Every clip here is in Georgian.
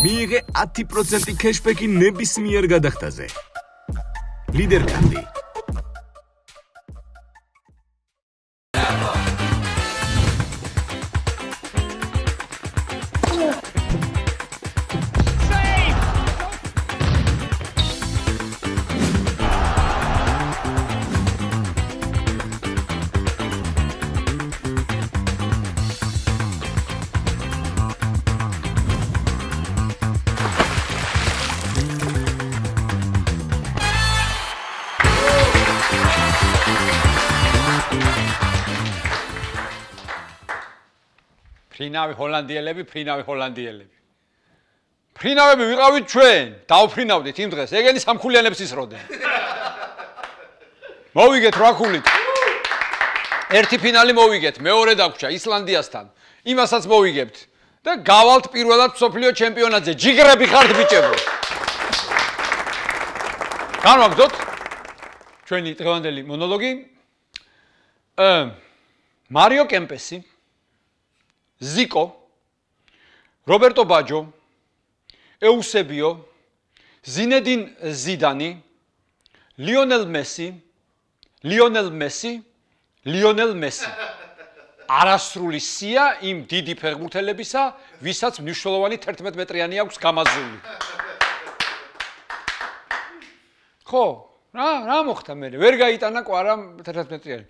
მიიღე 10% cashback-ი ნებისმიერ გადახდაზე. ლიდერ კარდი. ფრინავი ჰოლანდიელები. ფრინავები ვიყავით ჩვენ, დავფრინავდით იმ დღეს. ეგენი სამხულიანებს ისროდნენ. მოვიგეთ 8 ქულით. ერთი ფინალი მოვიგეთ, მეორე დაგვრჩა ისლანდიასთან. იმასაც მოვიგებთ და გავალთ პირველად მსოფლიო ჩემპიონატზე. ჯიგრები ხართ ბიჭებო. განვაგრძოთ ჩვენი დღევანდელი მონოლოგი. მარიო კემპესი, ზიკო, რობერტო ბაჯო, ეუსებიო, ზინე딘 ზიდანი, ლიონელ მესი, არასრული სია იმ დიდი ფეხბურთელებისა, ვისაც მნიშვნელოვანი 11 მეტრიანი აქვს გამაზრული. ხო, რა მოხდა მე? ვერ გაიტანა კვარა 11 მეტრიანი.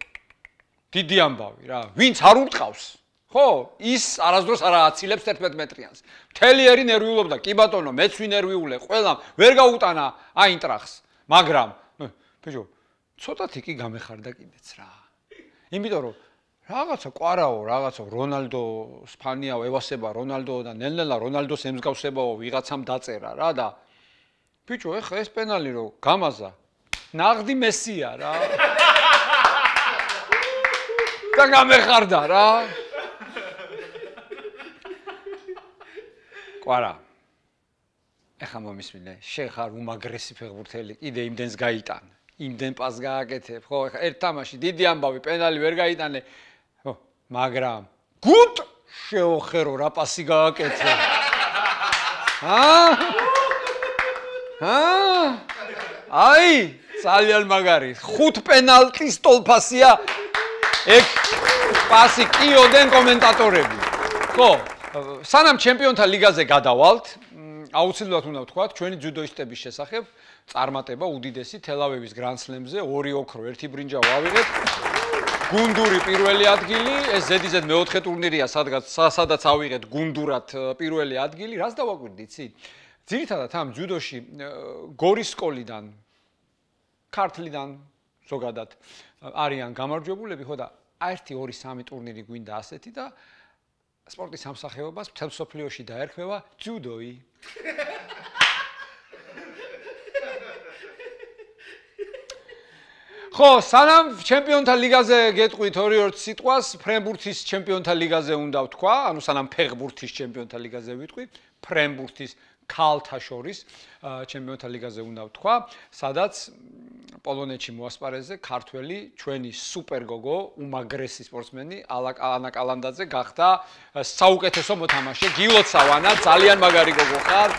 დიდი ამბავი რა, ვინც არ ურტყავს? ხო, ის არასდროს არ აცილებს 11 მეტრიანს. მთელი ერი ნერვიულობდა, კი ბატონო, მეც ვინერვიულე, ყველამ ვერ გაუტანა აინტრახს, მაგრამ ბიჭო, ცოტათი კი გამეხარდა კიდეც რა. იმიტომ რომ რაღაცა ყვარაო, რაღაცა რონალდოს ფანიაო, ევასება რონალდო და ნელ-ნელა რონალდოს ემსგავსებაო ვიღაცამ დაწერა რა და ბიჭო, ეხა ეს პენალი რო გამაზა, ნაღდი მესია რა. და გამეხარდა რა. ყვარა. ეხა მომისმინე, შენ ხარ უმაგრესი ფეხბურთელი, კიდე იმდენს გაიტან. იმდენ პას გააკეთებ, ხო, ეხა ერთ თამაში დიდი ამბავი, პენალი ვერ გაიტანე. ხო, მაგრამ გუტ შეოხერო რა პასი გააკეთე. აი, ძალიან მაგარი. 5 პენალტის ტოლფასია. ეგ პასი კიოდენ კომენტატორები. ხო, სანამ ჩემპიონთა ლიგაზე გადავალთ, აუცილებლად უნდა ვთქვათ, ჩვენი ძუდოისტების შესახებ წარმატება უდიდესი თელავივის გრანდსლემზე 2 ოქრო, 1 ბრინჯა ვავიღეთ. გუნდური პირველი ადგილი, ეს ზედიზედ მეოთხე ტურნირია, სადაც ავიღეთ გუნდურად პირველი ადგილი. რას დავაკვირდი, იცი? ძირითადად ამ ძუდოში გორის სკოლიდან, ქართლიდან ზოგადად არიან გამარჯვებულები, ხო და 1, 2, 3 ტურნირი გვინდა ასეთი და სპორტის სამსახიობობას მთელ მსოფლიოში დაერქვევა ძუდოი. ხო, სანამ ჩემპიონთა ლიგაზე გეტყვით 2-2 სიტყვას, ფრენბურთის ჩემპიონთა ლიგაზე უნდა ვთქვა, ანუ სანამ ფეხბურთის ჩემპიონთა ლიგაზე ვიტყვი, ფრენბურთის ქალთა შორის ჩემპიონთა ლიგაზე უნდა ვთქვა, სადაც პოლონეთში მოასპარეზე ქართველი ჩვენი სუპერგოგო, უმაგრესი სპორტსმენი ანა კალანდაძე გახდა საუკეთესო მოთამაშე. გილოცავ ანა, ძალიან მაგარი გოგო ხარ.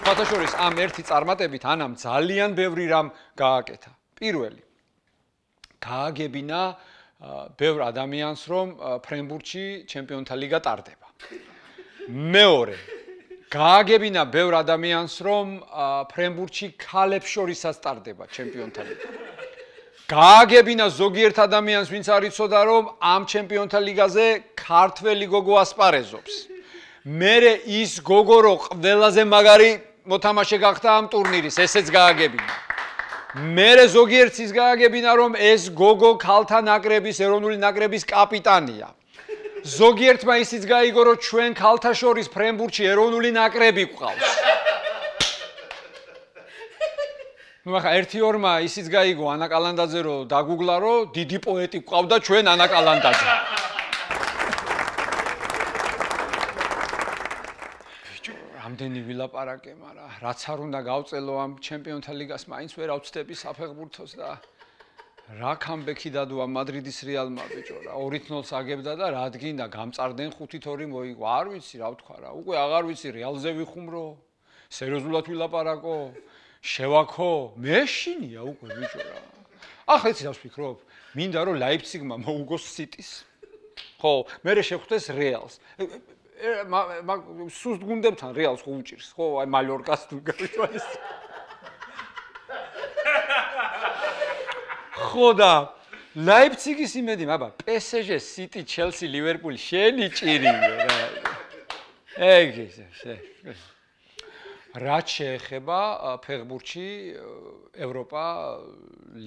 ქალთა შორის ამ ერთი წარმატებით ანამ ძალიან ბევრი რამ გააკეთა. პირველი, გააგებინა ბევრ ადამიანს, რომ ფრენბურთში ჩემპიონთა ლიგა ტარდება. მეორე, გააგებინა ბევრ ადამიანს, რომ ფრენბურთში ქალებს შორისაც ტარდება ჩემპიონთა ლიგა. გააგებინა ზოგიერთ ადამიანს, ვინც არ იცოდა, რომ ამ ჩემპიონთა ლიგაზე ქართველი გოგო ასპარეზობს. მერე ის გოგო რო ყველაზე მაგარი მოთამაშე გახდა ამ ტურნირის, ესეც გააგებინა. მერე ზოგიერთს ის გააგებინა, რომ ეს გოგო ქალთა ნაკრების, ეროვნული ნაკრების კაპიტანია. ზოგიერთმა ისიც გაიგო, რომ ჩვენ ქალთა შორის ფრენბურთში ეროვნული ნაკრები გვყავს. ნუ ახლა 1-2-მა ისიც გაიგო ანა კალანდაძე რომ დაგუგლა, რომ დიდი პოეტი გვყავდა ჩვენ ანა კალანდაძე. ბიჭო, რამდენი ვილაპარაკე, მაგრამ რაც არ უნდა გავწელო ამ ჩემპიონთა ლიგას, მაინც ვერ ავწდები საფეხბურთოს და რა კამბექი დადუა მადრიდის რეალმა ბიჭო რა 2-0-ს აგებდა და რა დგინდა გამწარდნენ 5-2 მოიგო არ ვიცი რა ვთქვა რა უკვე აღარ ვიცი რეალზე ვიხუმრო სერიოზულად ვილაპარაკო შევაქო მეშინია უკვე ბიჭო რა ახლა იცი რა ვფიქრობ მინდა რომ ლაიფციგმა მოუგოს სიტის ხო მე შეხვდეს რეალს სუსტ გუნდებთან რეალს ხო უჭირს ხო აი მალორკას თუ გავიშვაეს ხოდა ლაიფციგის იმედი აბა PSG City Chelsea Liverpool შენი ჭირიო რა ეგ რაც შეეხება ფეხბურთში ევროპა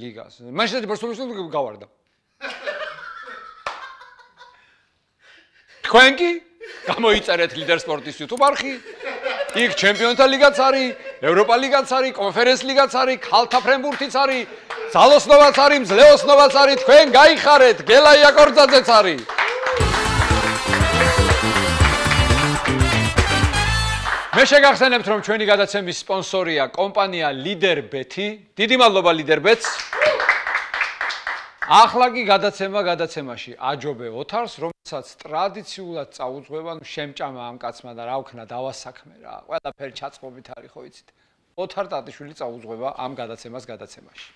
ლიგას მაშინ ბარსელონას გავარდა თქვენკი გამოიწერეთ ლიდერ სპორტის YouTube არხი იქ ჩემპიონთა ლიგაც არის ევროპა ლიგაც არის კონფერენს ლიგაც არის ქალთა ფრენბურთიც არის ძალოსნობაც არის მძლეოსნობაც არის თქვენ გაიხარეთ გელა იაკორძაძეც არის მე შეგახსენებთ რომ ჩვენი გადაცემის სპონსორია კომპანია ლიდერბეთი დიდი მადლობა ლიდერბეთს ახლა კი გადაცემაში აჯობე ოთარს რომელსაც ტრადიციულად წაუძღვება შემჭამა ამ კაცმა და რა ვქნა დავასაქმე რა ყველაფერი ჩაწყობით არის ხო იცით ოთარ ტატიშვილი წაუძღვება ამ გადაცემაში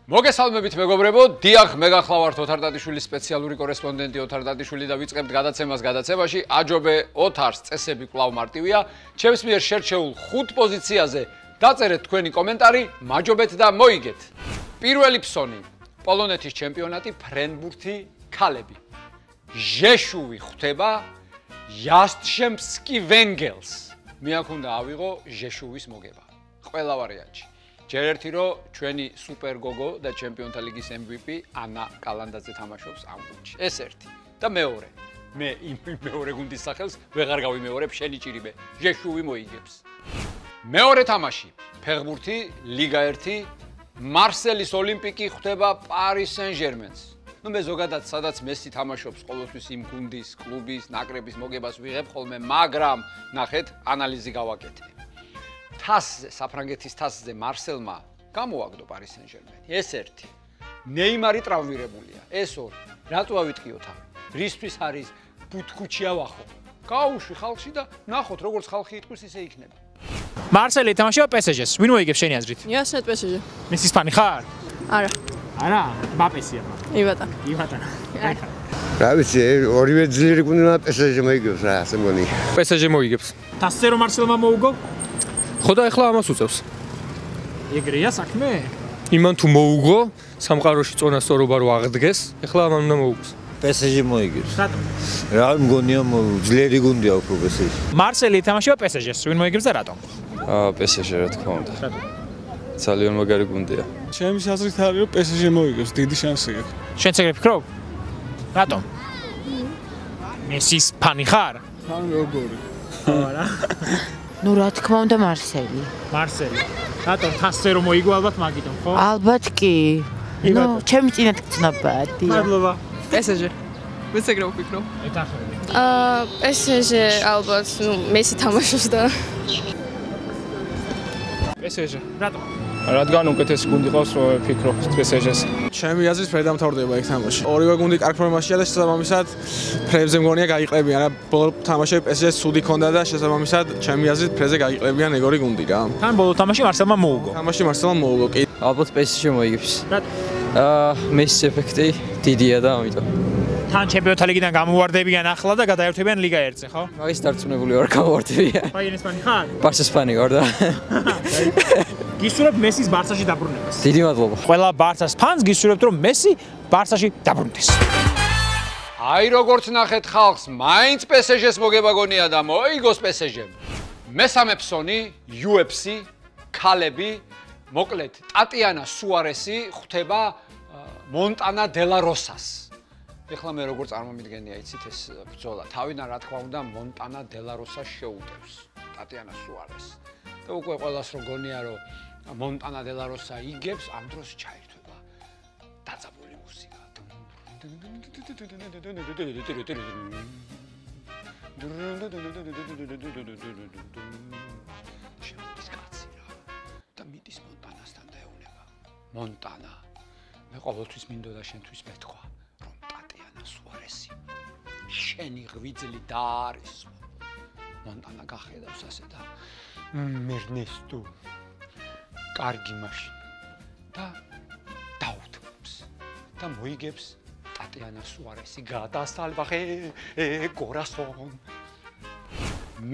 მოგესალმებით მეგობრებო, დიახ, მე გახლავართ ოთარ ტატიშვილის სპეციალური კორესპონდენტი ოთარ ტატიშვილი და ვიწყებთ გადაცემაში. აჯობე ოთარს წესები კვლავ მარტივია. ჩემს მიერ შერჩეულ 5 პოზიციაზე დაწერეთ თქვენი კომენტარი, მაჯობეთ და მოიგეთ. პირველი ფსონი, პოლონეთის ჩემპიონატი ფრენბურთი ქალები. ჟეშუვი ხვდება იასტშემსკი ვენგელს. მე აქ უნდა ავიღო ჟეშუვის მოგება. ყველა ვარიანტი. ჯერ ერთი რომ ჩვენი სუპერ გოგო და ჩემპიონთა ლიგის MVP ანა კალანდაძე თამაშობს ამ გუნდში. ეს ერთი. და მეორე. მე იმ მეორე გუნდის სახელს ვეღარ გავიმეორებ, შენი ჭირიბე. ჟეშუვი მოიგებს. მეორე თამაში. ფეხბურთი, ლიგა 1, მარსელის ოლიმპიკი ხვდება პარის სენ-ჟერმენს. ნუ მე ზოგადად სადაც მესი თამაშობს, ყოველთვის იმ გუნდის, კლუბის, ნაკრების მოგებას ვიღებ ხოლმე, მაგრამ ნახეთ, ანალიზი გავაკეთე. თასზე, საფრანგეთის თასზე მარსელმა გამოაგდო პარის სენ-ჟერმენი. ეს ერთი. ნეიმარი ტრავმირებულია. ეს ორი. რატო ავიტყიოთ ამ? რისთვის არის ბუთქუჩია ვახო? გაუშვი ხალხში და ნახოთ როგორც ხალხი იტყვის ისე იქნება. მარსელი თამაშია PSG-ს. ვინ მოიგებს შენი აზრით? იასეთ PSG. მესის ფანი ხარ? არა. არა, მბაპესია. ივატა. რა ვიცი, ორივე ძლიერი გუნდა PSG მოიგებს რა, ასე მგონი. PSG მოიგებს. თასზე რომ მარსელმა მოუგო? ხო და ეხლა ამას უწევს. ეგრეა საქმე? იმან თუ მოუგო, სამყაროში წონასწორობა რო აღდგეს, ეხლა ამან უნდა მოუგოს. PSG მოიგებს. რატომ? რა მგონია ძლიერი გუნდია უფრო PSG. მარსელი თამაშია PSG-ს. ვინ მოიგებს და რატომ? PSG რა თქმა უნდა. რატომ? ძალიან მაგარი გუნდია. ჩემი აზრით არის რომ PSG მოიგებს, დიდი შანსი აქვს. შენც ეგრე ფიქრობ? რატომ? მესის ფანი ხარ? თან როგორი? არა. ნუ რა თქმა უნდა მარსელი. მარსელი. რატომ თასზე რომ მოიგო ალბათ მაგიტომ, ხო? ალბათ კი. ნუ ჩემი წინათ გწნობადია. მადლობა. PSG. ვიც ეგრე ვფიქრობ. ეთახები. PSG ალბათ, ნუ მესი თამაშობს და PSG. რატომ? რადგან უკეთესი გუნდი ყავს ფიქრობ PSG-ს. ჩემი აზრით ფერდამთავრდება იქ თამაში. ორივე გუნდი კარგ ფორმაშია და შესაბამისად ფრებზე მგონია გაიყლებიან. რა ბოლო თამაშები PSG-ს სუდი ქონდა და შესაბამისად ჩემი აზრით ფრეზე გაიყლებიან ეგორი გუნდი რა. თან ბოლო თამაში მარსელმა მოუგო. თამაში მარსელმა მოუგო კი. ალბათ PSG მოიგებს. რატომ? მესის ეფექტი დიდია და ამიტომ. თან ჩემპიონთა ლიგიდან გამოვარდებიან ახლა და გადაერთვებიან ლიგა 1-ზე, ხო? მაგის დარწმუნებული ვარ გამოვარდებიან. ბაიერნის ფანი ხარ? ბარსას ფანი ვარ და გისურვებ მესის ბარსაში დაბრუნებას. დიდი მადლობა. ყველა ბარსას ფანს გისურვებთ რომ მესი ბარსაში დაბრუნდეს. აი როგორც ნახეთ ხალხს, მაინც PSG-ს მოგება გონია და მოიგოს PSG-მ. მესამე ფსონი, UFC, ქალები, მოკლედ, ტატიანა სუარესი ხვდება მონტანა დელა როსას. ეხლა მე როგორ წარმომიდგენია იცით ეს ბრძოლა. თავიდან რა თქმა უნდა მონტანა დელა როსას შეუტევს ტატიანა სუარესს. და უკვე ყველას რო გონია რომ მონტანა დელა როსა იგებს, ამ დროს ჩაირთვება დაძაბული მუსიკა. შემოდის კაცი რა და მიდის მონტანასთან და ეუბნება მონტანა მე ყოველთვის მინდოდა შენთვის მეთქვა რომ ტატიანა სუარესი შენი ღვიძლი დაარესო მონტანა გახედავს ასე და მერნესტო კარგი მაშინ და დაუთმობს და მოიგებს ტატიანა სუარესი გადასალვახე კორასონ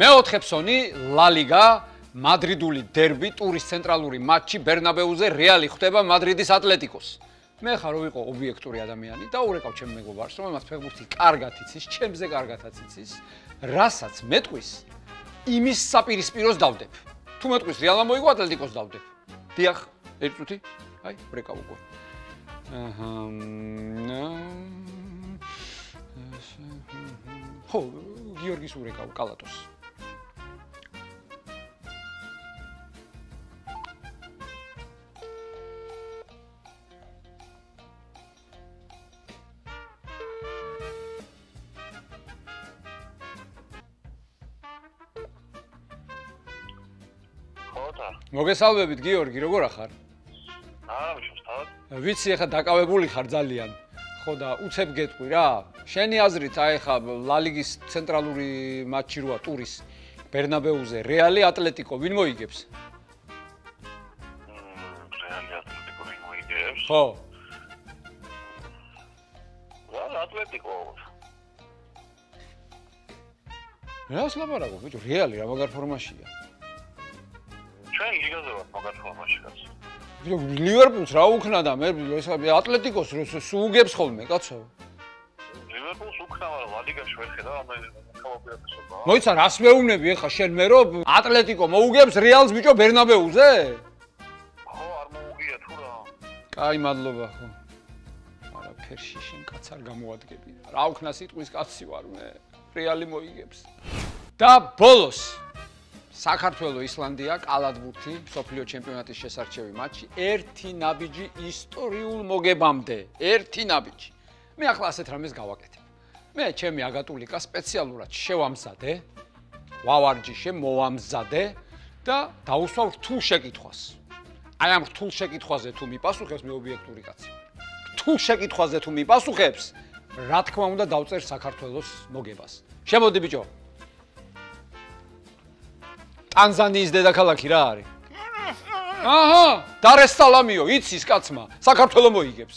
მეოთხე ფსონი ლა ლიგა მადრიდული დერბი ტურის ცენტრალური მატჩი ბერნაბეუზე რეალი ხვდება მადრიდის ატლეტიკოს მე ხარ რომ ვიყო ობიექტური ადამიანი და ურეკავ ჩემ მეგობარს რომელმაც ფეხბურთი კარგად იცის ჩემზე კარგადაც იცის რასაც მეტყვის იმის საპირისპიროს დავდებ თუ მეტყვის რეალმა მოიგო ატლეტიკოს დავდებ დიახ ერთი წუთი აი ვრეკავ უკვე ხო გიორგის ურეკავ კალატოს მოგესალმებით გიორგი, როგორ ახარ? ვიცი, ახლა დაკავებული ხარ ძალიან. ხო და უცებ გეტყვი რა. შენი აზრით, აი ხა ლა ლიგის ცენტრალური მატჩი როა ტურის ბერნაბეუზე, რეალი ატლეტიკო ვინ მოიგებს? რეალი ატლეტიკო ვინ მოიგებს? ხო. ატლეტიკო. რას ლაპარაკობ, ბიჭო, რეალი რა მაგარ ფორმაშია? ჩვენ ლიგაზე ვართ მაგარ ფორმაში კაცო. ლივერპულს რა უქნა და მე ეს ატლეტიკოს სუგებს ხოლმე კაცო. ლივერპულს უქნა, მაგრამ ლა ლიგაში ვერ ხედავ ამ კავაპირატესობა. მოიცა რას მეუბნები ახლა შენ მე რომ ატლეტიკო მოუგებს რეალს ბიჭო ბერნაბეუზე? ხო, არ მოუგია თუ რა. კაი, მადლობა ხო. არაფერში შენ კაც არ გამოადგები. რა უქნა სიტყვის კაცი ვარ მე. რეალი მოიგებს. და ბოლოს საქართველოს ისლანდია კალათბურთი სოფლიო ჩემპიონატის შესარჩევი მატჩი ერთი ნაბიჯი ისტორიულ მოგებამდე ერთი ნაბიჯი მე ახლა ასეთ რამეს გავაკეთებ მე ჩემი აგატულიკა სპეციალურად შევამზადე ვავარჯიშე მოვამზადე და დაუსვა რთულ შეკითხვას აი ამ რთულ შეკითხვაზე თუ მიპასუხებს მე ობიექტური კაცი რთულ შეკითხვაზე თუ მიპასუხებს რა თქმა უნდა დავწერ საქართველოს მოგებას შემოდი ბიჭო ტანზანიის დედაქალაქი რა არის? აჰა, დარ-ეს-სალამიო, იცის კაცმა, საქართველოს მოიგებს.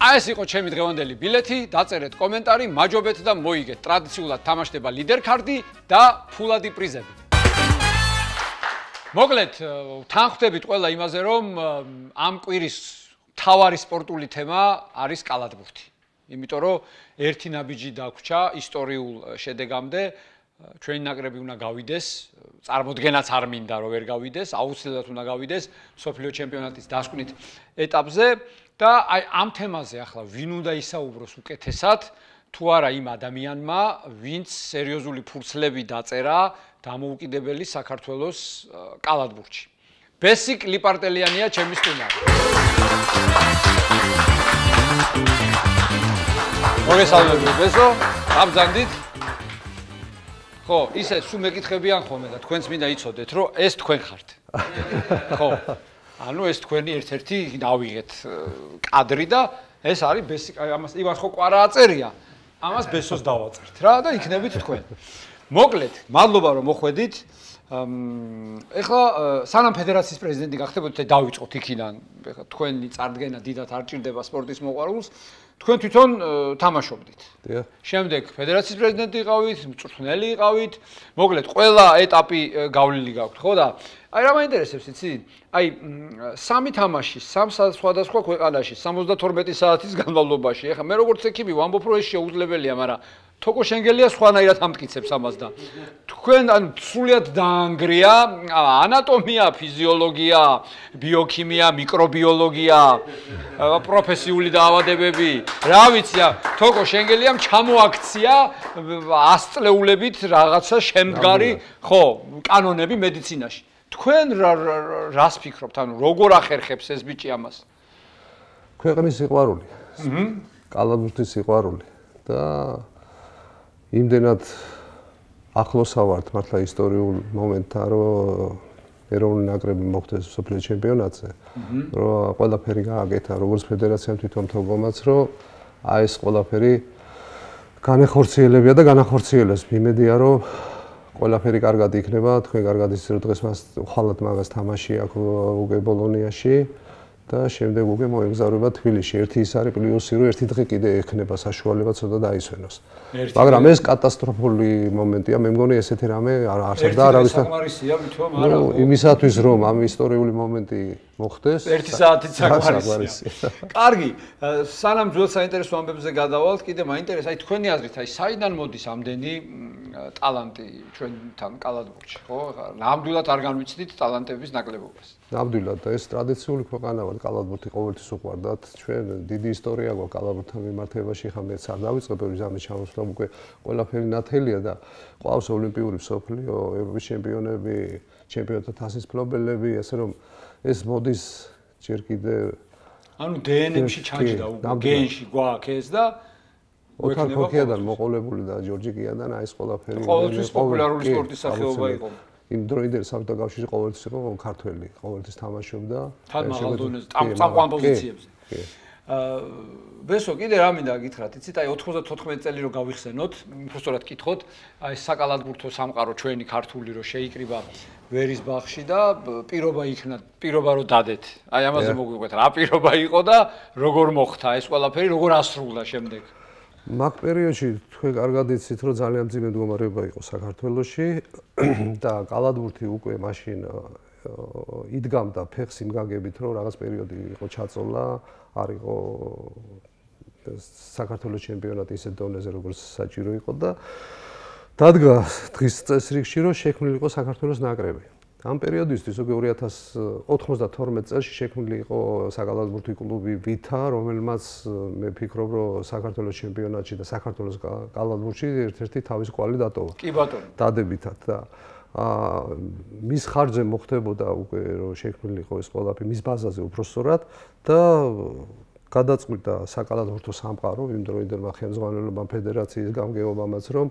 აი ეს იყო ჩემი დღევანდელი ბილეთი, დაწერეთ კომენტარი, მაჯობეთ და მოიგეთ. ტრადიციულად თამაშდება ლიდერ ქარდი და ფულადი პრიზები. მოკლედ, თანხმდებით ყველა იმაზე, რომ ამ კვირის მთავარი სპორტული თემა არის კალათბურთი. იმიტომ რომ ერთი ნაბიჯი დაგვრჩა ისტორიულ შედეგამდე ჩვენი ნაკრები უნდა გავიდეს წარმოდგენაც არ მინდა რომ ვერ გავიდეს აუცილებლად უნდა გავიდეს სოფლიო ჩემპიონატის დასკვნით ეტაპზე და აი ამ თემაზე ახლა ვინ უნდა ისაუბროს უკეთესად თუ არა იმ ადამიანმა ვინც სერიოზული ფურცლები დაწერა დამოუკიდებელი საქართველოს კალათბურთში ბესიკ ლიპარტელიანია ჩემი სტუმარი მოგესალმებით ბესო, გაბრძანდით. ხო, ისე სულ მეკითხებიან ხოლმე და თქვენც მინდა იცოდეთ, რომ ეს თქვენ ხართ. ხო. ანუ ეს თქვენი ერთ-ერთი დავიღეთ კადრი და ეს არის ბესიკ ამას იმას ხო კვარა აწერია. ამას ბესოს დავაწერთ რა და იქნებით თქვენ. მოკლედ, მადლობა რომ მოხვედით. ეხლა სანამ ფედერაციის პრეზიდენტი გახდებოდეთ, დავიწყოთ იქიდან. ეხლა თქვენი წარდგენა დიდად არ ჭირდება სპორტის მოყვარულს. თქვენ თვითონ თამაშობდით. შემდეგ ფედერაციის პრეზიდენტი იყავით, მწვრთნელი იყავით. მოკლედ, ყველა ეტაპი გავლილი გაქვთ, ხო და აი რა მაინტერესებს იცი? აი სამი თამაში, სამ სხვადასხვა ქვეყანაში 72 საათის განმავლობაში. ეხლა მე როგორც ექიმი ვამბობ, რომ ეს შეუძლებელია, მაგრამ თოკო შენგელია სხვანაირად ამტკიცებს ამას და თქვენ ან სულიად დაანგრია ანატომია, ფიზიოლოგია, ბიოქიმია, მიკრობიოლოგია, პროფესიული დაავადებები. რა ვიცი, თოკო შენგელიამ ჩამოაქცია ასწლეულებით რაღაცა შემდგარი, ხო, კანონები მედიცინაში. თქვენ რას ფიქრობთ, ანუ როგორ ახერხებს ეს ბიჭი ამას? ქვეყნის სიყვარული. კალათბურთის სიყვარული და იმდენად ახლოსავართ მართლა ისტორიულ მომენტთან, რომ ეროვნული ნაკრები მოხდეს მსოფლიო ჩემპიონატზე, რომ ყველაფერი გააკეთა, როგორც ფედერაციამ თვითონ თողომაც, რომ აი ეს ყველაფერი განეხორციელებია და განახორციელებს. მიმედია, რომ ყველაფერი კარგად იქნება, თქვენ კარგად იცით, რომ დღეს მას ხვალად მაგას თამაში აქვს უკვე ბოლონიაში და შემდეგ უკვე მოეგზავრება თბილისში. ერთი ის არის პლუსი, რომ ერთი დღე კიდე ექნება საშუალება ცოტა დაისვენოს. მაგრამ ეს კატასტროფული მომენტია, მე მგონი ესეთი რამე არ არსებდა არავისთან. იმისათვის რომ ამ ისტორიული მომენტი მოხდეს, 1 საათით საქმარისია. კარგი, სანამ ძველ საინტერესო ამბებზე გადავალთ, კიდე მაინტერესებს, აი თქვენი აზრით, აი საიდან მოდის ამდენი ტალანტი ჩვენთან კალათბურთში, ხო? ნამდვილად არ განვიცდით ტალანტების ნაკლებობას. ნამდვილად და ეს ტრადიციული ქვეყანა ვარ, კალათბურთი ყოველთვის უყვარდათ. ჩვენ დიდი ისტორია გვაქვს კალათბურთთან მიმართებაში, ხა მეც არ დავიწყებ ამის ჩამოსვლა, უკვე ყველაფერი ნათელია და ყავს ოლიმპიური მსოფლიო, ევროპის ჩემპიონები, ჩემპიონთა თასის მფლობელები, ასე რომ ეს მოდის ჯერ კიდე ანუ დნმ-ში ჩაჯდა უკვე გენში გვაქვს ეს და ოთარ ქოქიადან მოყოლებული და ჯორჯი კიადან აი ეს ყველაფერი ყოველთვის პოპულარული სპორტის სახეობა იყო. იმ დროინდელი საბჭოთა კავშირში ყოველთვის იყო ქართველი, ყოველთვის თამაშობდა თან მაღალ დონეზე, წამყვან პოზიციებზე. ბესო კიდე რა მინდა გითხრათ, იცით, აი 94 წელი რო გავიხსენოთ, უბრალოდ კითხოთ, აი საკალათბურთო სამყარო ჩვენი ქართული რო შეიკრიბა ვერის ბაღში და პირობა იქნა, პირობა რო დადეთ. აი ამაზე მოგვიყვეთ, რა პირობა იყო და როგორ მოხდა ეს ყველაფერი, როგორ ასრულდა შემდეგ. მაგ პერიოდში თქვენ კარგად იცით, რომ ძალიან მძიმე მდგომარეობა იყო საქართველოში და კალათბურთი უკვე მაშინ იდგამდა ფეხს იმ გაგებით, რომ რაღაც პერიოდი იყო ჩაწოლა, არ იყო საქართველოს ჩემპიონატი ისეთ დონეზე, როგორც საჭირო იყო და დადგა დღის წესრიგში, რომ შექმნილი იყო საქართველოს ნაკრები. ამ პერიოდისთვის უკვე 2092 წელს შექმნილი იყო საკალათბურთი კლუბი ვითა, რომელმაც მე ფიქრობ, რომ საქართველოს ჩემპიონატში და საქართველოს კალათბურთში ერთ-ერთი თავის კვალი დატოვა. კი ბატონო. დადებითად და მის ხარჯზე მოხდებოდა უკვე რომ შექმნილი იყო ეს ყველაფერი მის ბაზაზე უბრალოდ და გადაწყვიტა საკალათბურთო სამყარო იმ დროინდელმა ხელმძღვანელობამ ფედერაციის გამგეობამაც რომ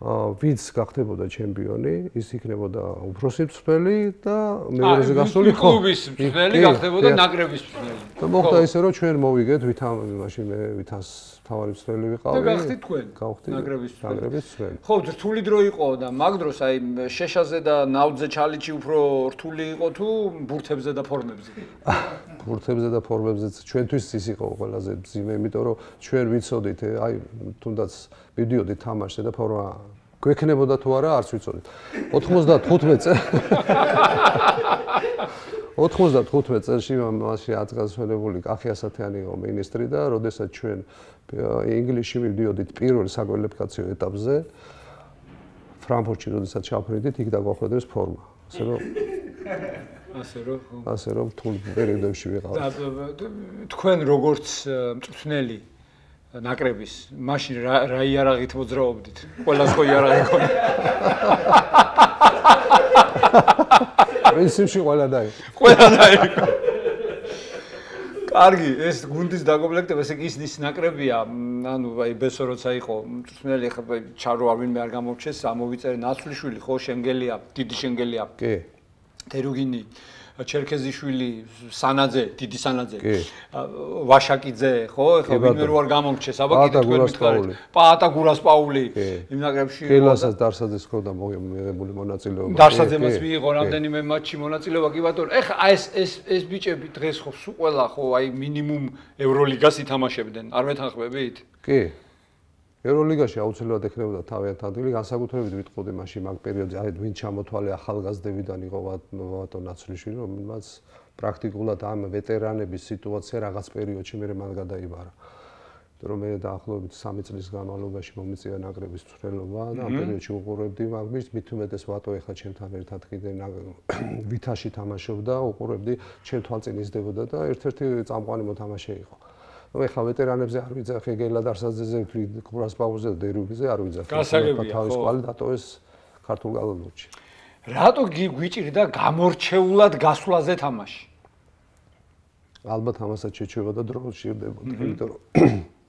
ვინც გახდებოდა ჩემპიონი, ის იქნებოდა უფროსი მწვრთნელი და მეორეზე გასული კლუბის მწვრთნელი გახდებოდა ნაკრების მწვრთნელი. და მოხდა ისე რომ ჩვენ მოვიგეთ მაშინ მე ვითას თავარი მწვრთნელი ვიყავი. და გახდით თქვენ ნაკრების მწვრთნელი. ხო, რთული დრო იყო და მაგ დროს აი შეშაზე და ნავძე ჩალიჩი უფრო რთული იყო თუ ბურთებზე და ფორმებზე? ბურთებზე და ფორმებზეც ჩვენთვის ის იყო ყველაზე მძიმე, იმიტომ რომ ჩვენ ვიცოდით, აი თუნდაც მივდიოდით თამაშზე და ფორმა გვექნებოდა თუ არა, არც ვიცოდით. 95 წელში მასში აწესრიგებული კახი ასათიანი იყო მინისტრი და როდესაც ჩვენ ინგლისში მივდიოდით პირველ საკვალიფიკაციო ეტაპზე ფრანკფურტში როდესაც ჩავფრინდით, იქ დაგვახვედრეს ფორმა. ასე რომ თულ პერიოდებში ვიყავით. თქვენ როგორც მწვრთნელი ნაკრების მაშინ რა იარაღით მოძრაობდით? ყველას ხო იარაღი ქონდა? პრინციპში ყველა დაიყო. ყველა დაიყო. კარგი, ეს გუნდის დაკომპლექტება, ესე იგი ის ნაკრებია, ანუ აი ბესო როცა იყო მწვრთნელი, ხა ჩარო არ ვინმე არ გამორჩეს, ამოვიწერე ნაცვლიშვილი, ხო, შენგელია, დიდი შენგელია. კი. თერუგინი, ჩერქეზიშვილი, სანაძე, დიდი სანაძე, ვაშაკიძე, ხო, ეხლა ვინმე რო არ გამორჩეს, აბა კიდე თქვენ მითხარით. პაატა გურასპაული იმ ნაკრებში. ხელასაც დარსაძეს ქონდა მიღებული მონაწილეობა. დარსაძემაც მიიღო რამდენიმე მატჩში მონაწილეობა, კი ბატონო. ეხლა ეს ბიჭები დღეს ხო სულ ყველა ხო აი მინიმუმ ევროლიგას ითამაშებდნენ, არ მეთანხმებით? კი. ევროლიგაში აუცილებლად ექნებოდა თავიანთ ადგილი, განსაკუთრებით ვიტყოდი მაშინ მაგ პერიოდზე, აი ვინ ჩამოთვალე ახალგაზრდებიდან იყო ვატო ნაცვლიშვილი, რომელმაც პრაქტიკულად ამ ვეტერანების სიტუაცია რაღაც პერიოდში მე მან გადაიბარა. იმიტომ რომ მე დაახლოებით 3 წლის განმავლობაში მომიწია ნაკრების მწვრთნელობა და ამ პერიოდში უყურებდი მაგის, მით უმეტეს ვატო ეხლა ჩემთან ერთად კიდე ვითაში თამაშობდა, უყურებდი, ჩემ თვალწინ იზრდებოდა და ერთ-ერთი წამყვანი მოთამაშე იყო. ეხლა ვეტერანებზე არ ვიძახე, გელა დარსაძეზე, გურასპაულზე და დერუბიზე არ ვიძახე. გასაგებია, თავის კვალი დატოვეს ქართულ კალათბურთში. რატო გვიჭირდა გამორჩეულად გასვლაზე თამაში? ალბათ ამასაც შეჩვევა და დრო ჭირდებოდა, იმიტომ რომ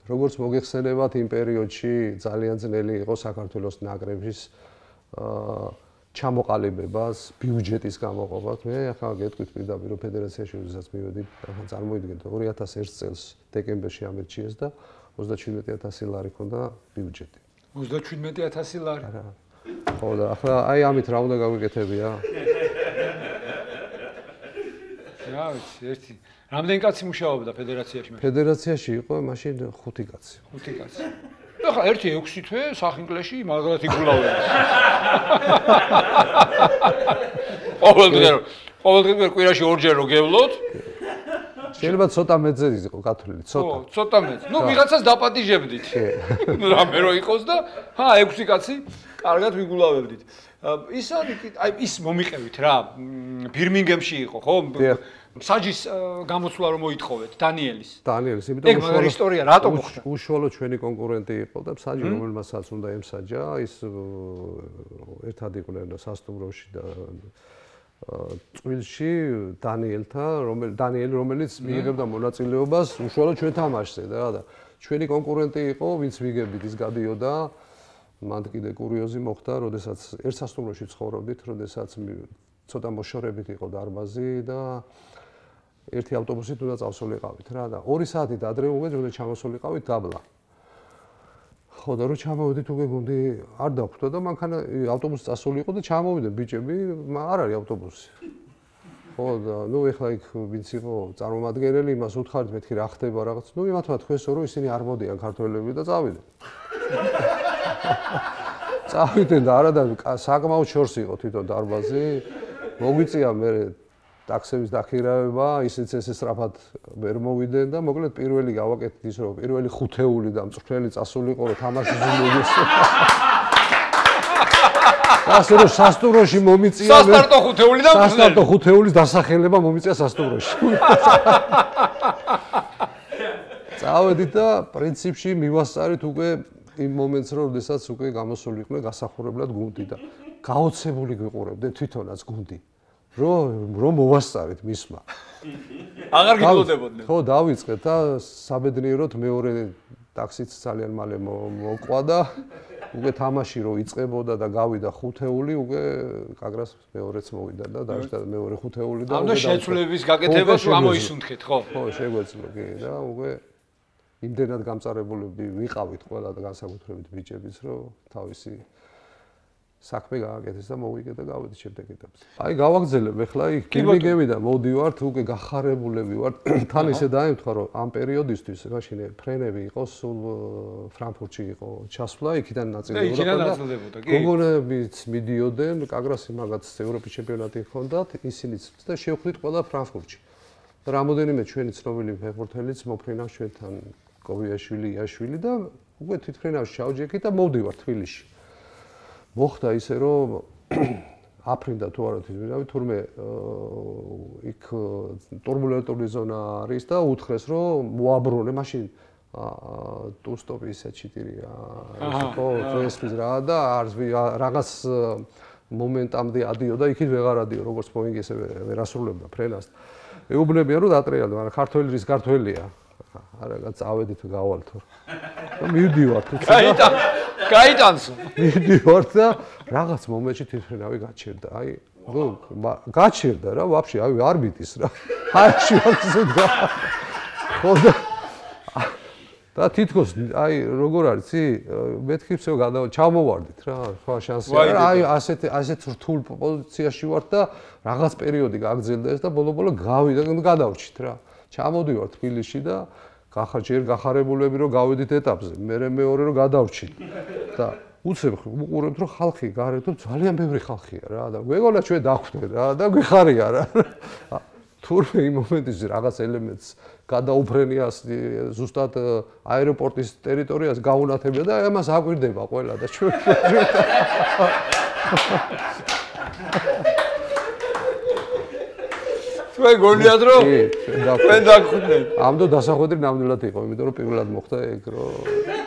როგორც მოგეხსენებათ იმ პერიოდში ძალიან ძნელი იყო საქართველოს ნაკრების ჩამოყალიბებას, ბიუჯეტის გამოყოფას. მე ახლა გეტყვით პირდაპირ რომ ფედერაციაში როდესაც მივედი, ახლა წარმოიდგინეთ 2001 წელს დეკემბერში ამერჩიეს და 37000 ლარი ქონდა ბიუჯეტი. 37000 ლარი. ხო და ახლა აი ამით რა უნდა გავიკეთებია? რა ვიცი, ერთი. რამდენი კაცი მუშაობდა ფედერაციაში? ფედერაციაში იყო მაშინ 5 კაცი. 5 კაცი. ახლა ერთი 6 თვე სახინკლეში მაგრად იგულავდა. ყოველდღე კვირაში ორჯერ რო გევლოთ. შეიძლება ცოტა მეძე იყო გათვლილი, ცოტა. ხო, ცოტა მეძე. ნუ ვიღაცას დაპატიჟებდით. რამე რო იყოს და 6 კაცი კარგად ვიგულავებდით. ის ის მომიყევით რა, ბირმინგემში იყო, ხო? საჯის გამოცვლა რომ მოითხოვეთ დანიელის. დანიელის, იმიტომ რომ ეს ისტორია რატომ მოხდა? უშუალო ჩვენი კონკურენტი იყო და საჯი რომელმასაც უნდა ემსაჯა, ის ერთად იყვნენ სასტუმროში და წვილში დანიელი რომელიც მიიღებდა მონაწილეობას უშუალო ჩვენ თამაშზე და ჩვენი კონკურენტი იყო, ვინც ვიგებით ის გადიოდა. მანდ კიდე კურიოზი მოხდა, როდესაც ერთ სასტუმროში ცხოვრობდით, როდესაც ცოტა მოშორებით იყო დარბაზი და ერთი ავტობუსით უნდა წავსულიყავით რა და 2 საათით ადრე უკვე უნდა ჩამოსულიყავით დაბლა. ხო და რო ჩამოვედით უკვე გუნდი არ დაგვხვდა და მანქანა ავტობუსი წასულიყო და ჩამოვიდნენ ბიჭები, არ არის ავტობუსი. ხო და ნუ ეხლა იქ ვინც იყო წარმომადგენელი, იმას უთხარით მეთქი რა ხდება რაღაც. ნუ იმათმა თქვენსო რომ ისინი არ მოდიან ქართველები და წავიდნენ. წავიდნენ და არა და საკმაოდ შორს იყო თვითონ დარბაზი. მოგვიწია მე ტაქსების დახირავება, ისიც ესე სწრაფად ვერ მოვიდნენ და მოკლედ პირველი გავაკეთეთ ის რომ პირველი ხუთეული და მწვრთნელი წასულიყო რომ თამაშის მოგეს. ასე რომ სასტუმროში მომიწია სასტარტო ხუთეული და სასტარტო ხუთეულის დასახელება მომიწია სასტუმროში. წავედით და პრინციპში მივასწარით უკვე იმ მომენტს რომ შესაძაც უკვე გამოსულიყვნენ გასახურებლად გუნდი და გაოცებული გვიყურებდნენ თვითონაც გუნდი. რომ მოვასწარეთ მისმა. აღარ გიგლოდებოდნენ. ხო, დავიწყეთ და საბედნიეროდ მეორე ტაქსიც ძალიან მალე მოყვა და უკვე თამაში რო იწყებოდა და გავიდა ხუთეული, უკვე კაგრას მეორეც მოვიდა და დაიწყდა მეორე ხუთეული და უნდა შეცვლების გაკეთებას ამოისუნთქეთ, ხო? ხო, შეგვეძლო კი და უკვე იმდენად გამწარებულები ვიყავით ყველა და განსაკუთრებით ბიჭებიც, რომ თავისი საქმე გააკეთეს და მოვიგე და გავედით შემდეგ ეტაპზე. აი გავაგზელებ ახლა იქ გიმიგები და მოდივართ უკვე გახარებულები ვართ. თან ისე დაემთხვა რომ ამ პერიოდისთვის მაშინ ფრენები იყო სულ ფრანკფურტში იყო ჩასვლა, იქიდან ნაწილდებოდა. გოგონებიც მიდიოდნენ, კაგრასი მაგაც ევროპის ჩემპიონატი ჰქონდათ, ისინიც და შევხვდით ყველა ფრანკფურტში. რამოდენიმე ჩვენი ცნობილი ფეხბურთელიც მოფრინავს ჩვენთან კობიაშვილი, იაშვილი და უკვე თვითფრინავს ჩავჯექით და მოვდივართ თბილისში. მოხდა ისე რომ აფრინდა თუ არა თვითმფრინავი, თურმე იქ ტურბულენტური ზონა არის და უთხრეს რომ მოაბრუნე, მაშინ ტუ-სტოპი ისე 4-ია. ხო, წესთვის რა და რაღაც მომენტამდე ადიოდა, იქით ვეღარ ადიო, როგორც პოინგი ესე ვერ ასრულებდა ფრენას. ეუბნებიან რომ დატრიალდა, მაგრამ ქართველი რის ქართველია. არა, წავედით გავალთ. მივდივართ. გაიტანსო. მივდივართ და რაღაც მომენტში თვითმფრინავი გაჩერდა. აი, გაჩერდა რა, ვაფშე, აი არ მიტის რა. აი შეიძლება. ხო და თითქოს აი როგორ არის იცი? მეთქი всё ჩამოვარდით რა, სხვა შანსი არა. აი ასეთ რთულ პოზიციაში ვარ და რაღაც პერიოდი გაგრძელდა ეს და ბოლო-ბოლო გავიდა და გადავრჩით რა. ჩამოდივარ თბილისში და ჯერ გახარებულები რომ გავედით ეტაპზე, მე მეორე რომ გადავრჩით და უცებ უყურებთ რომ ხალხი გარეთ ძალიან ბევრი ხალხია რა და გვეგონა ჩვენ დახვდეთ რა და გვიხარია რა. თურმე იმ მომენტში რაღაც ელემენტს გადაუფრენია ზუსტად აეროპორტის ტერიტორიას გაუნათებია და ამას აკვირდება ყველა და ჩვენ თქვენ გონიათ რომ თქვენ დაგხვდეთ. ამდო დასახვედრი ნამდვილად იყო, იმიტომ რომ პირველად მოხდა ეგ რომ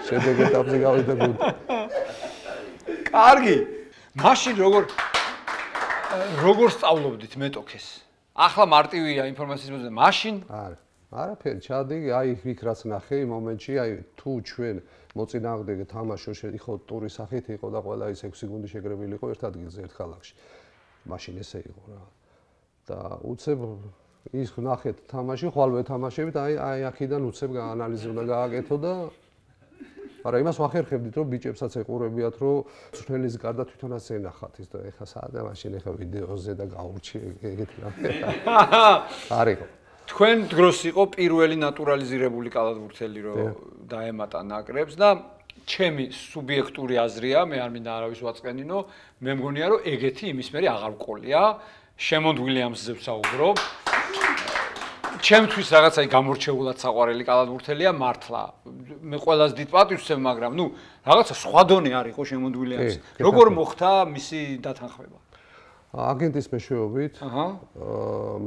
შემდეგ ეტაპზე გავიდა გუნდი. კარგი. მაშინ როგორ სწავლობდით მეტოქეს? ახლა მარტივია ინფორმაციის მოძებნა. მაშინ? არა. არაფერი, ჩადი, აი იქ რაც ნახე იმ მომენტში, აი თუ ჩვენ მოწინააღმდეგე თამაშო იყო ტურის სახით იყო და ყველა ის 6 გუნდი შეგრებილი იყო ერთ ადგილზე ერთ ქალაქში. მაშინ ესე იყო რა. და უცებ ის ნახეთ თამაში, ხვალვე თამაშებით, აი აქედან უცებ ანალიზი უნდა გააკეთო და მაგრამ იმას ვახერხებდით, რომ ბიჭებსაც ეყურებიათ, რომ ცვლელის გარდა თვითონაც ენახათ ის და ეხა საადა მაშინ ეხა ვიდეოზე და გაურჩი ეგეთი რამე. არისო. თქვენ დროს იყო პირველი ნატურალიზირებული კალათბურთელი, რომ დაემატა ნაკრებს და ჩემი სუბიექტური აზრია, მე არ მინდა არავის ვაწყენინო, მე მგონია, რომ ეგეთი იმის მერე აღარ ვყოლია, შემონდ ვილიამსზე ვსაუბრობ. ჩემთვის რაღაცა გამორჩეულად საყვარელი კალათბურთელია მართლა. მე ყველას დიდ პატივს ვცემ, მაგრამ ნუ რაღაცა სხვა დონე არ იყო შემონდ ვილიამსი. როგორ მოხდა მისი დათანხმება? აგენტის მეშვეობით.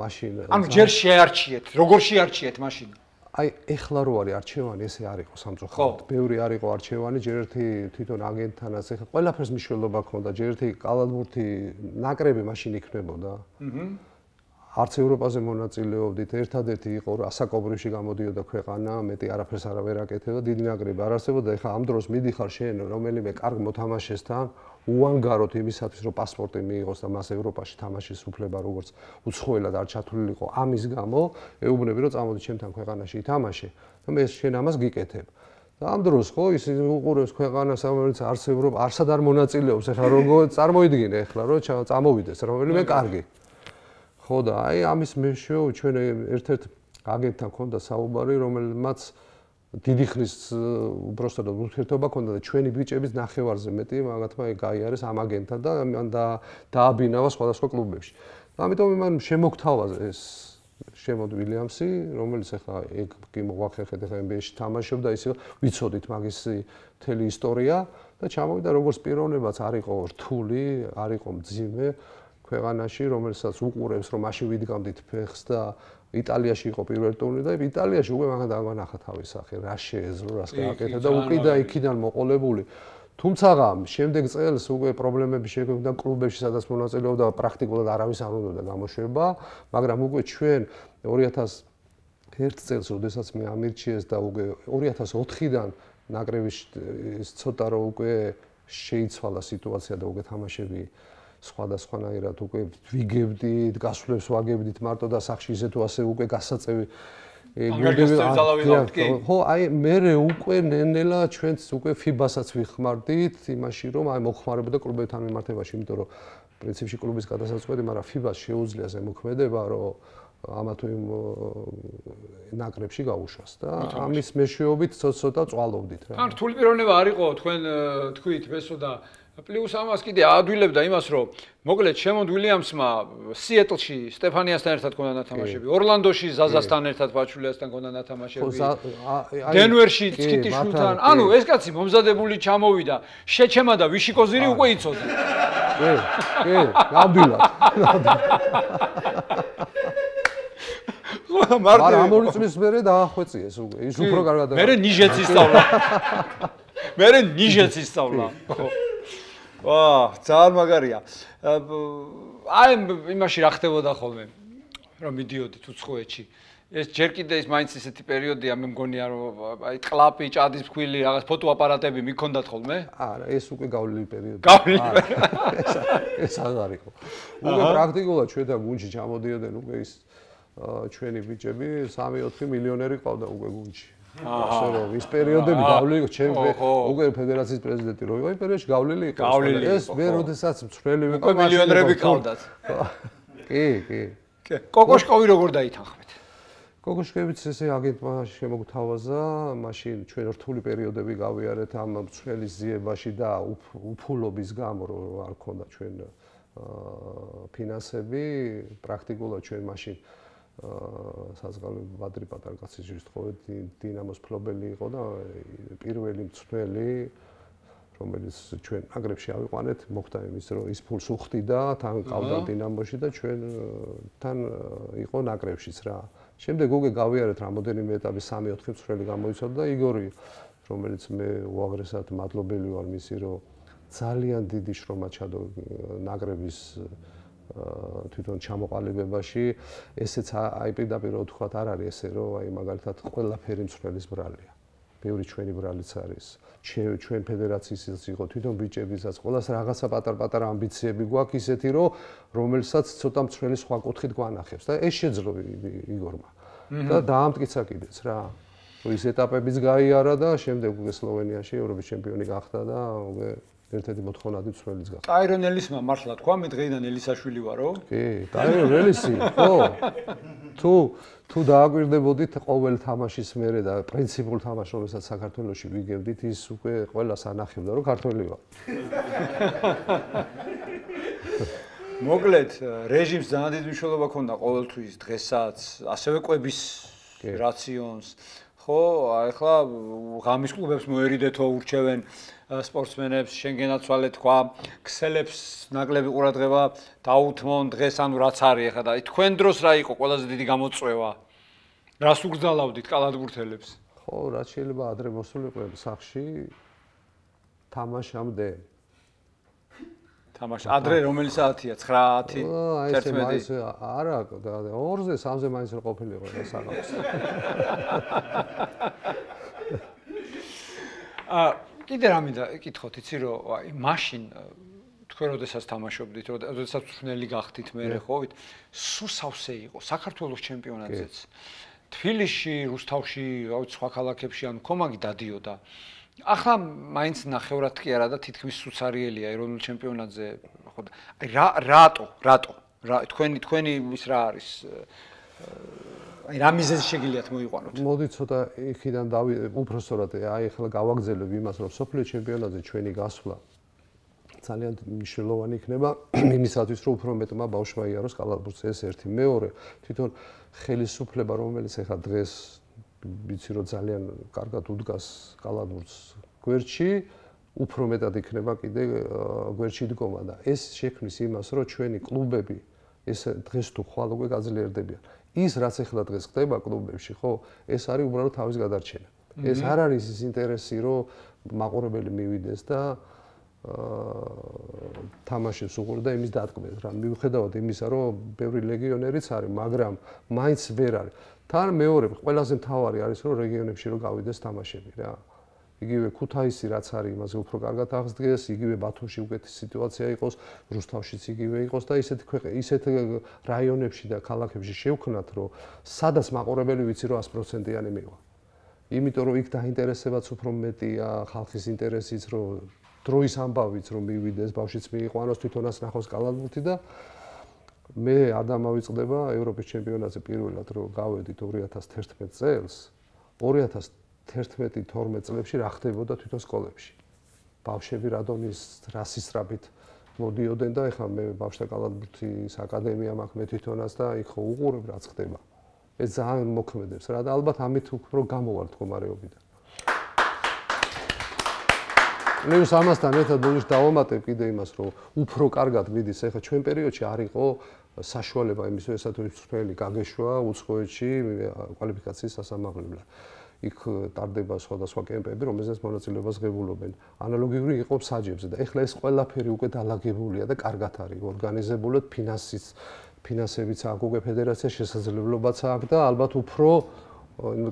მაშინ ანუ ჯერ შეარჩიეთ, როგორ შეარჩიეთ მაშინ? აი ეხლა რო არის არჩევანი, ესე არ იყო სამწუხაროდ. ბევრი არ იყო არჩევანი, ჯერ ერთი თვითონ აგენტთანაც ეხლა ყველაფერს მნიშვნელობა ჰქონდა, ჯერ ერთი კალათბურთი ნაკრები მაშინ იქნებოდა. არც ევროპაზე მონაწილეობდით, ერთადერთი იყო ასაკობრივში გამოდიოდა ქვეყანა, მეტი არაფერს არავერ აკეთებდა, დიდი ნაკრები არ არსებობდა. ეხლა ამ დროს მიდიხარ შენ რომელიმე კარგ მოთამაშესთან, უანგაროთ იმისათვის, რომ პასპორტი მიიღოს და მას ევროპაში თამაშის უფლება როგორც უცხოელად არ ჩათვლილიყო, ამის გამო ეუბნები, რომ წამოდი ჩემთან ქვეყანაში ითამაშე და მე შენ ამას გიკეთებ. და ამ დროს ხო ის უყურებს ქვეყანას, რომელიც არც ევროპა, არსად არ მონაწილეობს, ეხლა როგორ წარმოიდგინე ეხლა, რომ წამოვიდეს რომელიმე კარგი. ხო და აი ამის მეშვეობით ჩვენ ერთ-ერთ აგენტთან ქონდა საუბარი, რომელმაც დიდი ხნის უბრალოდ ურთიერთობა ქონდა და ჩვენი ბიჭების ნახევარზე მეტი მაგათმა გაიარეს ამ აგენტთან და მან დააბინავა სხვადასხვა კლუბებში. და ამიტომ მან შემოგთავაზა ეს შემონდ ვილიამსი, რომელიც ახლა ეგ კი მოახერხეთ, ახლა NBA-ში თამაშობდა, ისე ვიცოდით მაგის მთელი ისტორია და ჩამოვიდა როგორც პიროვნებაც არ იყო რთული, არ იყო მძიმე ქვეყანაში, რომელსაც უყურებს, რომ მაშინ ვიდგამდით ფეხს და იტალიაში იყო პირველი ტურნირი და იტალიაში უკვე მაგან დაგვანახა თავის სახე, რა შეეძლო, რას გააკეთა და უკვე და იქიდან მოყოლებული. თუმცა შემდეგ წელს უკვე პრობლემები შეგვექნა კლუბებში, სადაც მონაწილეობდა პრაქტიკულად არავის არ უნდოდა გამოშვება, მაგრამ უკვე ჩვენ 2001 წელს, როდესაც მე ამირჩიეს და უკვე 2004-დან ნაკრების ცოტა რომ უკვე შეიცვალა სიტუაცია და უკვე თამაშები სხვადასხვანაირად უკვე ვიგებდით, გასვლებს ვაგებდით მარტო და სახში ისე თუ ასე უკვე გასაწევი ხო, აი მე უკვე ნენელა ჩვენც უკვე FIBA-საც ვიხმარდით იმაში, რომ აი მოხმარებოდა კლუბებთან მიმართებაში, იმიტომ რომ პრინციპში კლუბის გადასაწყვეტი, მაგრამ FIBA-ს შეუძლია ზემოქმედება, რომ ამა თუ იმ ნაკრებში გაუშვას და ამის მეშვეობით ცოტა წვალობდით რა. ან რთული პიროვნება არ იყო თქვენ თქვით მესო და პლუს ამას კიდე აადვილებდა იმას, რომ მოკლედ შემონდ ვილიამსმა სიეტლში სტეფანიასთან ერთად ქონდა ნათამაშები, ორლანდოში ზაზასთან ერთად ბაჩულიასთან ქონდა ნათამაშები, დენვერში ცკიტიშვილთან, ანუ ეს კაცი მომზადებული ჩამოვიდა, შეჩემა და ვიშიკოზირი უკვე იცოდა. კი, ნამდვილად. მაგრამ ამ ორი წლის მერე დაახვეწიეს უკვე, ის უფრო კარგად. მერე ნიჟეც ისწავლა. მერე ნიჟეც ისწავლა. ხო. ვა, ძალიან მაგარია. აი იმაში რა ხდებოდა ხოლმე, რომ მიდიოდით უცხოეთში. ეს ჯერ კიდე ის მაინც ისეთი პერიოდია, მე მგონია რომ აი ტყლაპი, ჭადის ფქვილი, რაღაც ფოტოაპარატები მიქონდათ ხოლმე? არა, ეს უკვე გავლილი პერიოდი. გავლილი. ეს აღარ იყო. უკვე პრაქტიკულად ჩვენ და გუნდში ჩამოდიოდნენ უკვე ის ჩვენი ბიჭები 3-4 მილიონერი ყავდა უკვე გუნდში. ასე რომ ის პერიოდები გავლილი ჩემ უკვე ფედერაციის პრეზიდენტი რო იყო, იმ პერიოდში გავლილი იყო. ეს მე როდესაც მწვრელი ვიყავ, უკვე მილიონერები ყავდათ. კი, კი. კოკოშკოვი როგორ დაითანხმეთ? კოკოშკევიც ესე აგენტმა შემოგთავაზა, მაშინ ჩვენ რთული პერიოდები გავიარეთ ამ მწვრელის ძიებაში და უფულობის გამო რომ არ ქონდა ჩვენ ფინანსები, პრაქტიკულად ჩვენ მაშინ საზღალებრივ ბადრი პატარ კაცის ჯვრის დინამოს ფლობელი იყო და პირველი მწვრელი რომელიც ჩვენ ნაკრებში ავიყვანეთ, მოხდა იმის რომ ის ფულს უხდიდა, თან ყავდა დინამოში და ჩვენთან იყო ნაკრებშიც რა. შემდეგ უკვე გავიარეთ რამოდენიმე ეტაპი 3-4 მწვრელი გამოიცვალა და იგორი, რომელიც მე უაღრესად მადლობელი ვარ მისი, რომ ძალიან დიდი შრომა ჩადო ნაკრების თვითონ ჩამოყალიბებაში, ესეც აი პირდაპირ ვთქვათ, არ არის ესე, რომ აი მაგალითად ყველაფერი მცველის ბრალია. ბევრი ჩვენი ბრალიც არის. ჩვენ ფედერაციისიც იყო თვითონ ბიჭებისაც, ყველას რაღაცა პატარ-პატარა ამბიციები გვაქვს ისეთი, რომ რომელსაც ცოტა მცველი სხვა კუთხით გვანახებს და ეს შეძლო იგორმა. და დაამტკიცა კიდეც რა. ის ეტაპებიც გაიარა და შემდეგ უკვე სლოვენიაში ევროპის ჩემპიონი გახდა და უკვე ერთ-ერთი მოთხოვნადი მცველიც გახდა. ტაირონ ელისმა მართლა თქვა, მე დღეიდან ელისაშვილი ვარო? კი, ტაირონ ელისი, ხო. თუ დააკვირდებოდით ყოველ თამაშის მერე და პრინციპულ თამაშს, რომელსაც საქართველოში ვიგებდით, ის უკვე ყველას ანახებდა, რომ ქართველი ვარ. მოკლედ, რეჟიმს ძალიან დიდი მნიშვნელობა ჰქონდა ყოველთვის დღესაც, ასევე კვების რაციონს. ხო, ახლა ღამის კლუბებს მოერიდეთო ურჩევენ სპორტსმენებს, შენ გენაცვალე თქვა, ქსელებს ნაკლები ყურადღება დაუთმონ დღეს, ანუ რაც არის ახლა და თქვენ დროს რა იყო ყველაზე დიდი გამოწვევა? რას უგზალავდით კალათბურთელებს? ხო, რაც შეიძლება ადრე მოსულიყო სახში თამაშამდე. თამაში ადრე რომელი საათია? 9:00, 11:00? არა, 2-ზე, 3-ზე მაინც ყოფილიყო ეს საღამოს. კიდე რა მინდა ეკითხოთ, იცი რომ აი მაშინ თქვენ როდესაც თამაშობდით, როდესაც წვრთნელი გახდით მერე ხოვით, სულ სავსე იყო საქართველოს ჩემპიონატზეც. თბილისში, რუსთავში, რავი სხვა ქალაქებში ან კომაგი დადიოდა. ახლა მაინც ნახევრად კი არა და თითქმის სუცარიელია ეროვნულ ჩემპიონატზე. ხო და აი რატო? თქვენი ის რა არის? აი რა მიზეზი შეგიძლიათ მოიყვანოთ? მოდი ცოტა იქიდან უბრალოდ აი ახლა გავაგზავნებ იმას, რომ სოფლიო ჩემპიონატზე ჩვენი გასვლა ძალიან მნიშვნელოვანი იქნება იმისათვის, რომ უფრო მეტმა ბავშვმა იაროს კალათბურთს, ეს ერთი. მეორე, თვითონ ხელისუფლება, რომელიც ახლა დღეს ვიცი რომ ძალიან კარგად უდგას კალათბურთს გვერდში, უფრო მეტად იქნება კიდე გვერდში დგომა და ეს შექმნის იმას, რომ ჩვენი კლუბები ეს დღეს თუ ხვალ უკვე გაძლიერდებიან. ის რაც ახლა დღეს ხდება კლუბებში, ხო, ეს არის უბრალოდ თავის გადარჩენა. ეს არ არის ის ინტერესი, რომ მაყურებელი მივიდეს და თამაშებს უყურდეს და იმის დატკბეს რა. მიუხედავად იმისა, რომ ბევრი ლეგიონერიც არის, მაგრამ მაინც ვერ არის. თან მეორე, ყველაზე მთავარი არის, რომ რეგიონებში რომ გავიდეს თამაშები რა. იგივე ქუთაისი რაც არის, იმაზე უფრო კარგად აღსდგეს, იგივე ბათუმში უკეთესი სიტუაცია იყოს, რუსთავშიც იგივე იყოს და ისეთ რაიონებში და ქალაქებში შევქნათ, რომ სადაც მაყურებელი ვიცი რომ 100%-იანი მივა. იმიტომ რომ იქ დაინტერესებაც უფრო მეტია, ხალხის ინტერესიც, რომ დროის ამბავიც რომ მივიდეს, ბავშვიც მიიყვანოს, თვითონაც ნახოს კალათბურთი და მე არ დამავიწყდება ევროპის ჩემპიონატზე პირველად რომ გავედით 2011 წელს 2011-12 წლებში რა ხდებოდა თვითონ სკოლებში. ბავშვები რადონის რასისტრაბით მოდიოდნენ და ეხლა მე ბავშვთა კალათბურთის აკადემია მაქვს მე თვითონაც და იქ ხო უყურებ რაც ხდება. ეს ძალიან მოქმედებს რა და ალბათ ამით უფრო გამოვარ მდგომარეობიდან. პლუს ამასთან ერთად ბოლოს დავამატებ კიდე იმას რომ უფრო კარგად მიდის ეხლა ჩვენ პერიოდში არ იყო საშუალება იმისთვისაც რომ მწვრთნელი გაგეშვა უცხოეთში კვალიფიკაციის სასამაღლებლად. იქ ტარდება სხვადასხვა კემპები, რომელზეც მონაწილეობას ღებულობენ. ანალოგიური იყო საჯებზე და ეხლა ეს ყველაფერი უკვე დალაგებულია და კარგად არის ორგანიზებულად, ფინანსებიც აქვს უკვე ფედერაციას შესაძლებლობაც აქვს და ალბათ უფრო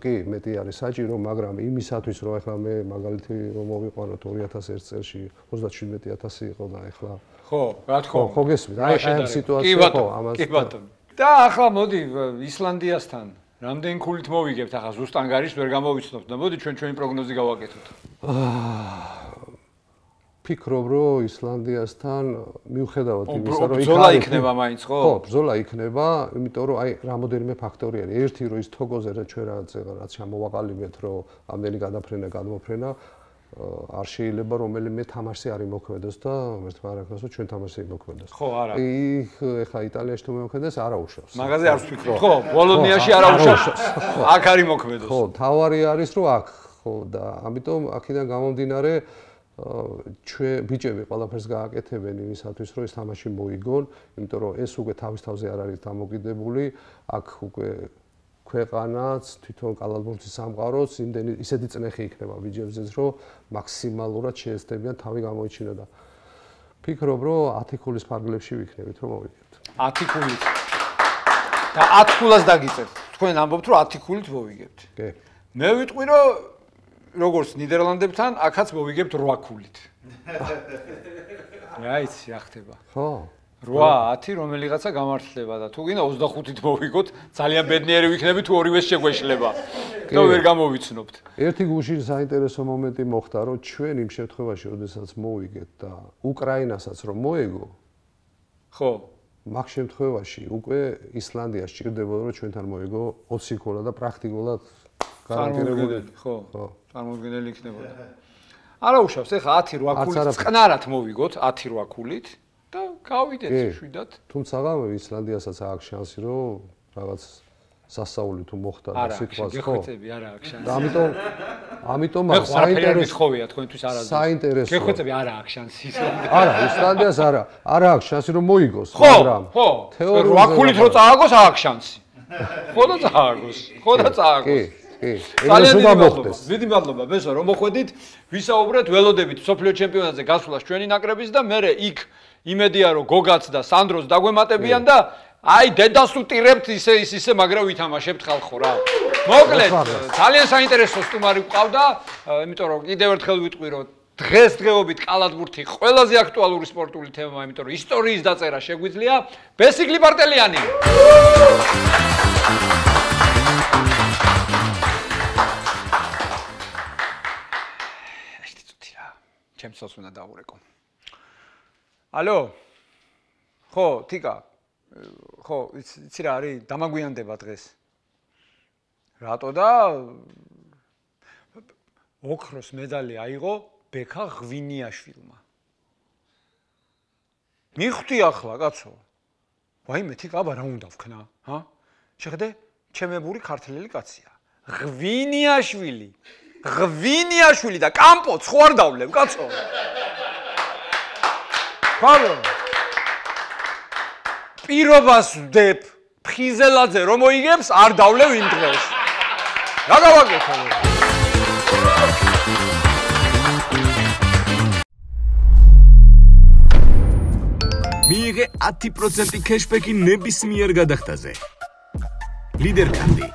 კი მეტი არის საჭირო, მაგრამ იმისათვის რომ ეხლა მე მაგალითი რომ მოვიყვანოთ 2001 წელში 37000 იყო და ეხლა ხო, რა თქმა უნდა. ხო გესმით. აი ამ სიტუაცია ხო ამას. კი ბატონო. და ახლა მოდი ისლანდიასთან რამდენი ქულით მოვიგებთ ახლა ზუსტ ანგარიშს ვერ გამოვიცნობთ და მოდი ჩვენი პროგნოზი გავაკეთოთ. ფიქრობ რომ ისლანდიასთან მიუხედავად იმისა რომ ბრძოლა იქნება მაინც ხო? ხო, ბრძოლა იქნება, იმიტომ რომ აი რამოდენიმე ფაქტორი არის. ერთი რომ ის თოგოზე ჩვენ რაც ჩამოვაყალიბეთ რომ ამდენი გადაფრენა გადმოფრენა არ შეიძლება რომელიმე თამაშზე არ იმოქმედოს და ერთმა არ აქვს რომ ჩვენ თამაშზე იმოქმედოს. ხო, არა. იქ ეხა იტალიაში თუ მემოქმედოს არ აუშავს. მაგაზე არ ვფიქრობ. ხო, ბოლონიაში არ აუშავს. აქ არ იმოქმედოს. ხო, თავარი არის რომ აქ ხო და ამიტომ აქედან გამომდინარე ჩვენ ბიჭები ყველაფერს გააკეთებენ იმისათვის რომ ეს თამაში მოიგონ, იმიტომ რომ ეს უკვე თავის თავზე არ არის დამოკიდებული, აქ უკვე ქვეყანაც თვითონ კალათბურთის სამყაროს ისეთი წნეხი იქნება ბიჭებზეც რომ მაქსიმალურად შეესწრებიან თავი გამოიჩინონ და ფიქრობ, რომ 10 ქულის ფარგლებში ვიქნებით, რომ მოვიგებთ. 10 ქულით. და 10 ქულას დაგიწევთ. თქვენ ამბობთ, რომ 10 ქულით მოვიგებთ. კი. მე ვიტყვი, რომ როგორც ნიდერლანდებთან, აქაც მოვიგებთ 8 ქულით. რაიცი, რა ხდება? ხო. 8-10 რომელიღაცა გამართლდება და თუ გინდა 25-ით მოვიგოთ, ძალიან ბედნიერი ვიქნები თუ ორივეს შეგვეშლება. და ვერ გამოვიცნობთ. ერთი გუშინ საინტერესო მომენტი მოხდა, რომ ჩვენ იმ შემთხვევაში, როდესაც მოვიგეთ და უკრაინასაც რომ მოეგო, ხო. მაგ შემთხვევაში უკვე ისლანდია სჭირდებოდა, რომ ჩვენთან მოეგო 20 ქულა და პრაქტიკულად გარანტირებული. ხო. წარმოუდგენელი იქნებოდა. არა უშავს, ეხლა 10-8 ქულით წყნარად მოვიგოთ, 10-8 ქულით. და გავიდეთ შვიდად. თუმცა ისლანდიასაც აქვს შანსი, რომ რაღაც სასაული თუ მოხდა და სიტყვას ხო. გეხვეწები არა აქვს შანსი. და ამიტომ საინტერესო ხოვია თქვენთვის არა. საინტერესო. გეხვეწები არა აქვს შანსი. არა, ისლანდიას არა აქვს შანსი რომ მოიგოს, მაგრამ ხო. 8 ქულით რო წააგოს აქვს შანსი. ხო და წააგოს. ხო და წააგოს. კი. დიდი მადლობა, ბესო, რომ მოხვედით, ვისაუბრეთ ველოდებით სოფლიო ჩემპიონატზე გასვლას ჩვენი ნაკრების და მე იქ იმედია რომ გოგაც და სანდროს დაგვემატებიან და აი დედას უტირებთ ისე მაგრამ ვითამაშებთ ხალხო რა. მოკლედ ძალიან საინტერესო სტუმარი გვყავდა, იმიტომ რომ კიდევ ერთხელ ვიტყვი რომ დღესდღეობით კალათბურთი ყველაზე აქტუალური სპორტული თემაა, იმიტომ რომ ისტორიის დაწერა შეგვიძლია. ბესიკლი პარტელიანი. ჩემსოს უნდა დავურეკო. ალო. ხო, თიკა. ხო, იცი რა არის? დამაგვიანდება დღეს. რატო და ოქროს მედალი აიღო ბექა ღვინიაშვილმა. მიხვდი ახლა, კაცო. ვაიმე, თიკა, აბა რა უნდა ვქნა, ჰა? შეხედე, ჩემებური ქართველი კაცია. ღვინიაშვილი. ღვინიაშვილი და კამპოც ხო არ დავლებ, კაცო. ხარო. პირობას ვდებ ფხიზელაძე რომ მოიგებს, არ დავლევ იმ დღეს. რა გავაკეთო? მიიღე 10% кэшбэკი ნებისმიერ გადახდაზე. ლიდერ კანდი